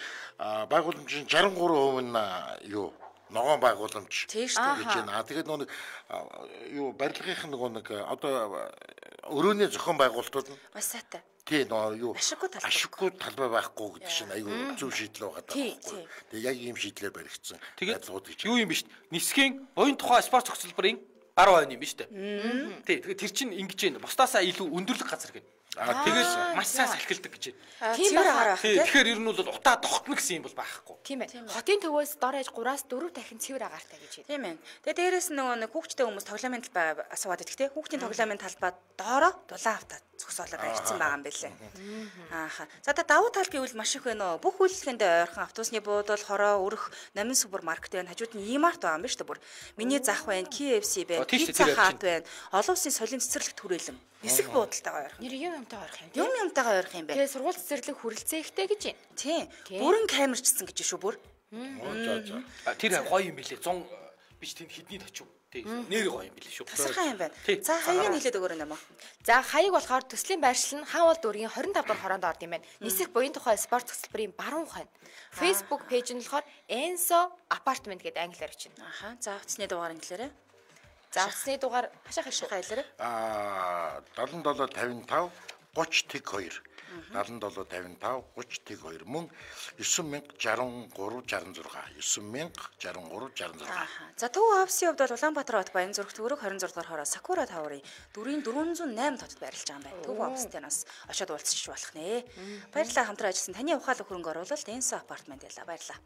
байгууламжийн 63% нь юу ногоон байгууламж гэж байна. Тэгээд нөгөө юу барилгын нөгөө нэг одоо өрөөний зохион байгуулалтууд нь маш сайтай. Тий, нөгөө юу ашиггүй талбай байхгүй гэдэг чинь аюу зөв шийдэл байгаа даа. Тэгээд яг ийм шийдлээр баригдсан байдлууд гэж. Юу юм биш. Нисхийн буян тухай спорт цогцлбарын 10% юм биш үү? Тий, тэгээд тэр чинь ингэж байна. Бусдаасаа илүү өндөрлөг газар гэнэ. Тэгээс маш сайн салхилдаг гэж байна. Тийм байгаа. Тэгэхээр ер нь бол утаа тогтно гэсэн юм бол байхгүй. Тийм ээ. Хотын төвөөс дор хаяж 3-4 дахин цэвэр агаартай гэж байна. Тийм ээ. Тэгээ дээрэс нөгөө нэг хүүхдтэй хүмүүс тоглоомын талбай асууад идэх те. Хүүхдийн тоглоомын талбай доороо дулаан автаа зогсоолоод баригдсан байгаа юм байлээ. Ааха. За та давуу тал гэвэл маш их байна. Бүх үйлчлэгэнд ойрхон автобусны буудал, хороо, өрх, номин супермаркет байна. Хажууд нь E-Mart байгаа юм байна шүү дээ бүр. Миний зах байна, KFC байна, Pizza Hut байна. Олон улсын соёлын цэцэрлэг түрээлэн. Нисэх буудалтайгаа ойрхон. Нэр юмтайгаа ойрхон юм. Юмтайгаа ойрхон юм байна. Тэгээ сургууль цэцэрлэг хүрэлцээ ихтэй гэж байна. Тийм. Бүрэн камерчсан гэж шүү бүр. Тэр гоё юм билээ. 100 биш тийм хэдний тачив. Нэр гоё юм билээ шүү. Тасархай юм байна. За хаягийг хэлээд өгөөрэй нэмэ. За хаяг болохоор төслийн байршил нь хаан бол дүүргийн 25 дахь хороонд орд юм байна. Нисэх буян тухай спорт цогцлбарын баруун хойно. Facebook пэйж нь болохоор Enso апартмент гэдэг англиар бичнэ. Аха. За утасны дугаар англиараа. За утасны дугаар хашаа хэлээрэй. 7755 30 2 7755 30 2 мөн 9063 66 9063 66. За Төв офисын хувьд бол Улаанбаатар хот Баянзүрх төвөрөг 26 дугаар хороо Сакура таврын 408 хотод байрлаж байгаа юм байна. Төв офистай нас очиод уулзчих болох нэ. Баярлалаа хамтран ажилласан таны ухаалаг хөрөнгө оруулалт Enso апартмент байлаа. Баярлалаа.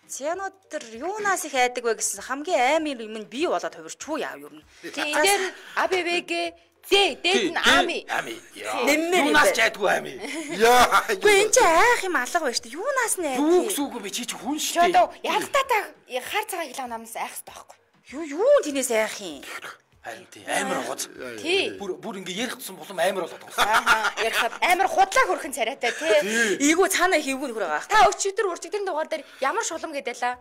Цянуудэр юунаас их айдаг вэ гэсэн хамгийн аймын юм нь бий болоод хувирчгүй яав юу. Тийм энэ дээр АБВ дээд нь ами. Юунаас ч айдгүй ами. Яа. Үгүй энэ ч айх юм алга байна шүү дээ. Юунаас нь айд. Юу гэсүүг би чи хүн шүү дээ. Ялтаа та хар цагаан хилээ намнаас айх хэрэгтэй байхгүй. Юу тэнээс айх юм. Харин тий амар гоц. Тий. Бүр ингээ ярих тусам болом амар болоод байгаа. Аа ярихад амар худлаа хөрхэн царайтай тий. Ийгүү цаана хийвгүй нөхөр байгаа. Та өчигдөр дугаар дээр ямар шулам гэдэлээ.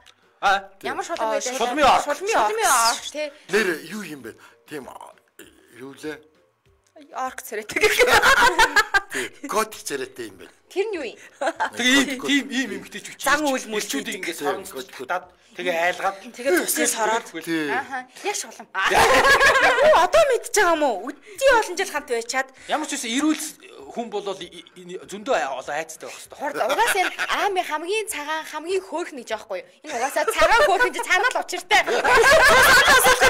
Ямар шулам гэдэлээ. Шулмын орк тий. Нэр юу юм бэ? Тийм юу лээ? Орк царайтай гэх юм. Код царайтай юм бэ? Тэр нь юу юм? Тэгээ ийм эмгтэй ч үчиж. Зан үйл мөлчүүдийг ингээ соромжтаад тэгээ айлгаад тэгээ тусын сороод. Ааха. Яг шулам. Одоо мэдчихэж байгаа юм уу? Өдний олон жил хамт байчаад ямар ч үсэн эрүүл хүн болол зөндөө олон айцтай байх хэрэгтэй. Хорд угаасаа энэ аами хамгийн цагаан хамгийн хөөрхөн гэж аахгүй юу? Энэ угаасаа цагаан хөөрхөн чи цаанаа л учиртай.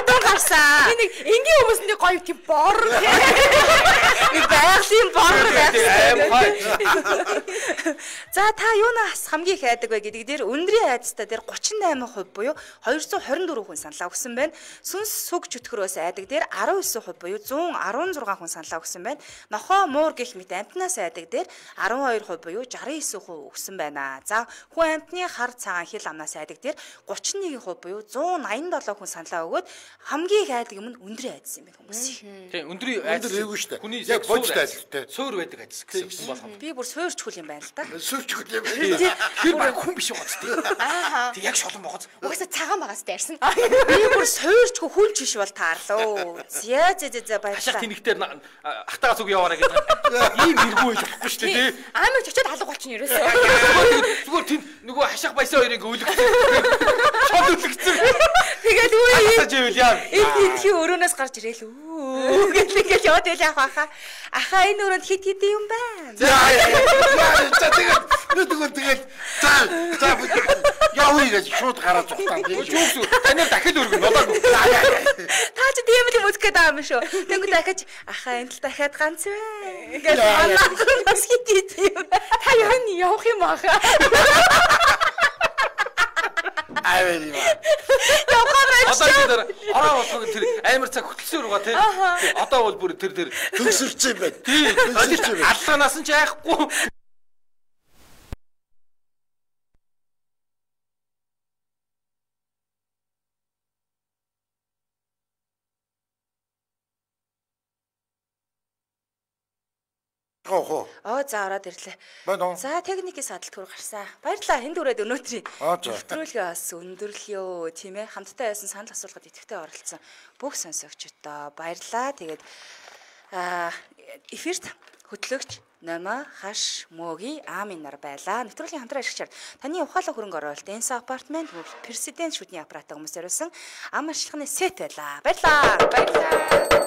дун гарсан. Би нэг энгийн хүмүүсний гоё тийм бор. Нэг байгалийн бор Аймхай. За та юунаас хамгийн их айдаг вэ гэдэг дээр өндрийн айцтай дээр 38% буюу 224 хүн саналаа өгсөн байна. Сүнс сүг чөтгөрөөс айдаг дээр 19% буюу 116 хүн саналаа өгсөн байна. Нохоо муур гэх мэт амтнаас айдаг дээр 12% буюу 69% өгсөн байна. За хүн амтны хар цагаан хил амнаас айдаг дээр 31% буюу 187 хүн саналаа өгөөд хамгийн их айдаг юм нь өндрийн айдас юм байна хүмүүс. Тийм өндрийн айдас ээгүй шүү дээ. Хүний яг бодит айдастай. Суур байдаг айдас гэсэн болох. Би бүр суурч хөл юм байна л да. Сүрчгүй юм. Тэр баг хүн биш гоц тийм. Ааха. Тэг яг шолон богоц. Угаасаа цагаан багаас дайрсан. Би бүр суурчгүй хүлч биш бол таарлаа. За Хашаа баярлалаа. тэнэгтэр ахтагаас үг яваарай гэдэг. Ийм иргүү байж болохгүй шүү дээ. Аамиг чочоод алга болчихно ерөөсөө. Зүгээр тийм нөгөө хашаах баясаа хоёрыг өлгсөн. Шол өлгсөн. Тэгээд үгүй Аживэл яа. эдхи өрөөнөөс гарч ирээл үү гэл ингээл яваад байл ахаа. Ахаа энэ өрөөнд хит юм байна. За тэгээд за явъя гэж шууд гараад зогтаа. Юу танаар дахиад өргөн болоогүй. Та ч тийм л музик гэдэг юм шүү. Тэнгүү дахиж ахаа энэ л дахиад ганц вэ. Ингээл анаас хит юм. Та явах юм аахаа. Авэри. Одоо тэр ороо болох тэр амар цаг хөтлсөн руугаа тий. Одоо бол бүр тэр Төгсөрч юм байна. тий. Аллаанаас нь ч айхгүй. Хоо. За ороод ирлээ. Байна уу? За техникийн садалт хөр гарсан. Баярлалаа. Хэнд өрөөд өнөөдрийн За. нэвтрүүлгээ бас өндөрлөё тийм ээ. Хамтдаа байсан санал асуулгад идэвхтэй оролцсон бүх сонсогчдоо баярлалаа. Тэгээд эфирт хөтлөгч Номо хаш мөгийн аамын нар байлаа. Нэвтрүүлгийн хамтран ашигчаар таны ухаалаг хөрөнгө оруулалт Энса апартмент президент шүдний аппарат хүмүүсээр өсөн ам ашиглахны сет байлаа. Баярлалаа.